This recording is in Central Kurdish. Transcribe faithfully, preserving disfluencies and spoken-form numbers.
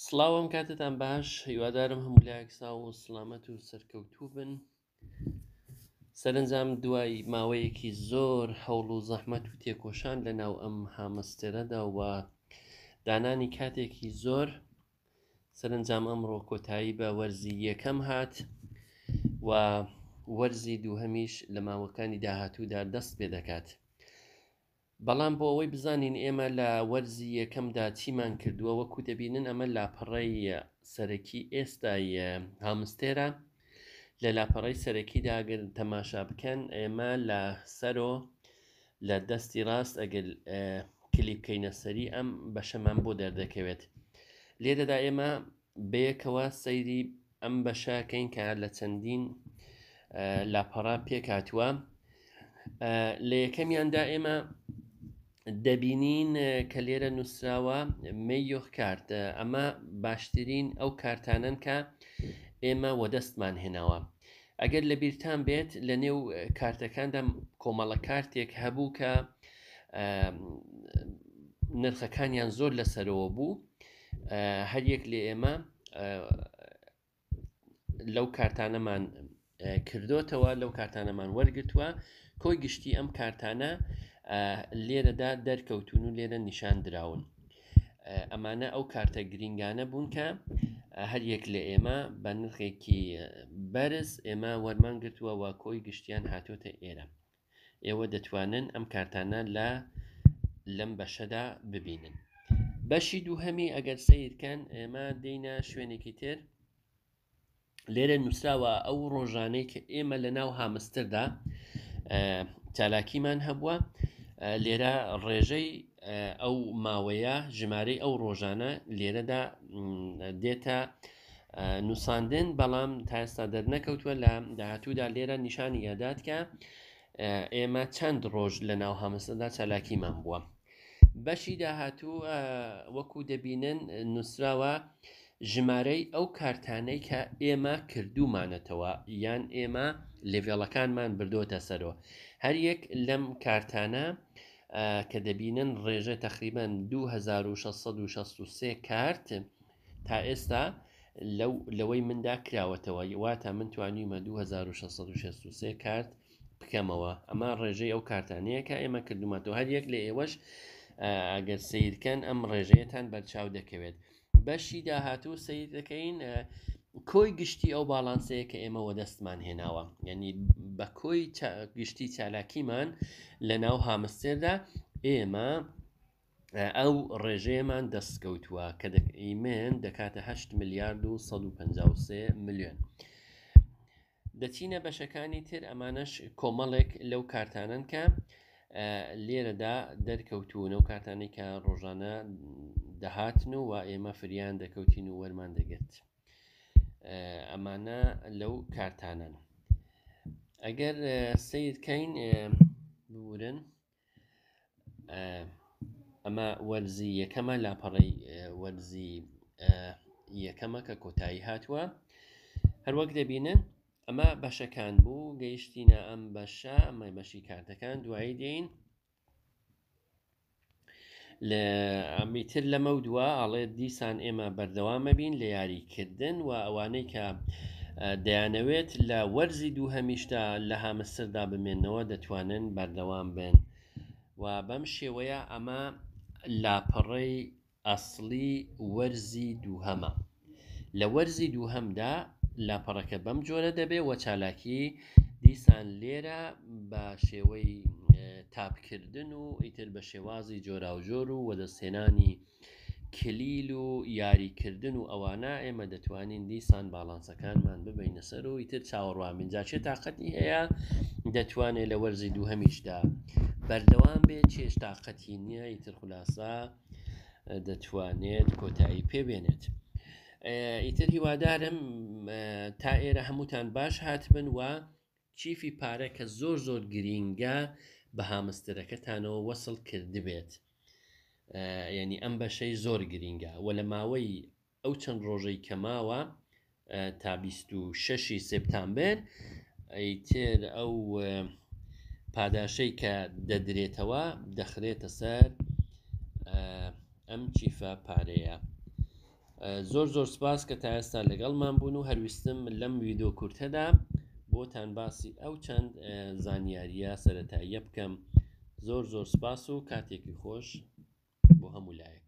سڵاو ئەم کاتتان باش، هیوادارم هەموو لایەک ساو و سڵامەت و سەرکەوتوو بن. سەرەنجام دوای ماوەیەکی زۆر هەوڵ و زەحمەت و تێکۆشان لە ناو ئەم هامستێرەدا و دانانی کاتێکی زۆر، سەرەنجام ئەمڕۆ کۆتایی بە وەرزی یەکەم هات و وەرزی دووهەمیش لە ماوەکانی داهاتوودا دەست پێ دەکات. بەڵام بۆ ئەوەی بزانین ئێمە لە وەرزی یەکەمدا چیمان کردووە، وەکو دەبینن ئەمە لاپەڕەی سەرەکی ئێستای هامستێرە. لە لاپەڕەی سەرەکیدا ئەگەر تەماشا بکەن، ئێمە لە سەرۆ لە دەستی ڕاست ئەگەر کلیک بکەینە سەری ئەم بەشەمان بۆ دەردەکەوێت. لێرەدا ئێمە بەیەکەوە سەیری ئەم بەشەکەین کە لە چەندین لاپەڕە پێکهاتووە. لە یەکەمیاندا ئێمە دەبینین کە لێرە نووسراوە مەیۆخ کارت. ئەمە باشترین ئەو کارتانن کە ئێمە وەدەستمان هێناوە. ئەگەر لە بیرتان بێت لە نێو کارتەکاندا کۆمەڵە کارتێک هەبوو کە نرخەکانیان زۆر لەسەرەوە بوو. هەریەک لە ئێمە لەو کارتانەمان کردوتەوە، لەو کارتانەمان وەرگتووە. کۆی گشتی ئەم کارتانە لێرەدا دەرکەوتون و لێرە نیشان دراون. ئەمانە ئەو کارتە گرینگانە بوون کە هەر یەک لە ئێمە بە نرخێکی بەرز ئێمە وەرمان گرتووە و کۆی گشتیان هاتۆتە ئێرە. ئێوە دەتوانن ئەم کارتانە لە لەم بەشەدا ببینن. بەشی دووهەمی ئەگەر سەیرکەن ئێمە دێینە شوێنێکی تر. لێرە نووسراوە ئەو ڕۆژانەی کە ئێمە لە ناو هامستردا چالاکیمان هەبووە. لێرە ڕێژەی ئەو ماوەیە، ژمارەی ئەو ڕۆژانە لێرەدا دێتە نووساندن، بەڵام تا ئێستا دەرنەکەوتووە. لە داهاتوودا لێرە نیشانی ئەدات کە ئێمە چەند ڕۆژ لە ناو هامستردا چالاکیمان بووە. بەشی داهاتوو وەکو دەبینن نووسراوە ژمارەی ئەو کارتانەی کە ئێمە کردومانەتەوە یان ئێمە لێڤێڵەکانمان بردۆتە سەرەوە. هەر یەک لەم کارتانە کە دەبینن ڕێژە تقریبان دوو هەزار و شەش سەد و شەست و سێ کارت تا ئێستا لەو لەوەی مندا کراوەتەوە، واتە من توانیومە دوو هەزار و شەش سەد و شەست و سێ کارت بکەمەوە. ئەمە ڕێژەی ئەو کارتانەیە کە ئێمە کردومانەوە. هەر یەک لە ئێوەش ئەگەر سەیرکەن ئەم ڕێژەیەتان بەرچاو دەکەوێت. بەشی داهاتوو سەیر دەکەین کۆی گشتی ئەو باڵانسەیە کە ئێمە وەدەستمان هێناوە، یعنی بە کۆی گشتی چالاکیمان لە ناو هامستێردا ئێمە ئەو ڕێژەیەمان دەستکەوتووە کە من دەکاتە هەشت ملیارد و سەد و پەنجا و سێ ملیۆن. دەچینە بەشەکانی تر، ئەمانەش کۆمەڵێک لەو کارتانن کە لێرەدا دەرکەوتون، ئەو کارتانەی کە ڕۆژانە دەهاتن و ئێمە فریان دەکەوتین و وەرمان دەگرت. ئەمانە لەو کارتانن. ئەگەر سەیرکەین بورن، ئەمە وەرزی یەکەمە، لاپەڕەی وەرزی یەکەمە کە کۆتایی هاتووە. هەروەک دەبینن ئەمە بەشەکان بوو، گەیشتینە ئەم بەشە، ئەمە بەشی کارتەکان. دوایی دێین لە ئەمیتر لەمە دووە ئاڵێ دیسان ئێمە بەردەوامە بین لە یاریکردن و ئەوانەی کە دەیانەوێت لە وەرزی دوو هەمیشتا لە هامستردا بمێنەوە دەتوانن بەردەوام بن. و بەم شێوەیە ئەمە لاپەڕەی ئەسڵی وەرزی دووهەمە. لە وەرزی دووهەمدا لاپەڕەکە بەم جۆرە دەبێ و چالاکی دیسان لێرە بە شێوەی تاپکردن و ئیتر بە شێوازی جۆراوجۆر و وەدەستهێنانی کلیل و یاریکردن و ئەوانە ئێمە دەتوانین دیسان باڵانسەکانمان ببینە سەر و ئیتر چاوەڕوان بین. جا چێ تاقەتی هەیە دەتوانێت لە وەرزی دووهەمیشدا بەردەوام بێت، چێش تاقەتی نییە ئیتر خولاسە دەتوانێت کۆتایی پێبێنێت. ئیتر هیوادارم تا ئێرە هەمووتان باش هاتبن و چیفی پارە کە زۆر زۆر گرینگە بە هامستەرەکەتانەوە وەسڵ کردبێت. یعنی ئەم بەشەی زۆر گرینگە و لە ماوەی ئەو چەند ڕۆژەی کەماوە تا بیست و شەشی سپتامبەر ئیتر ئەو پاداشەی کە دەدرێتەوە دەخرێتە سەر ئەم چیفە پارەیە. زۆر زۆر سپاس کە تا ئێستا لەگەڵمان بوون و هەرویستم لەم ویدۆ کورتەدا بۆتان باسی ئەو چەند زانیاریە سەرەتاییە بکەم. زۆر زۆر سپاس و کاتێکی خۆش بۆ هەموو لایەک.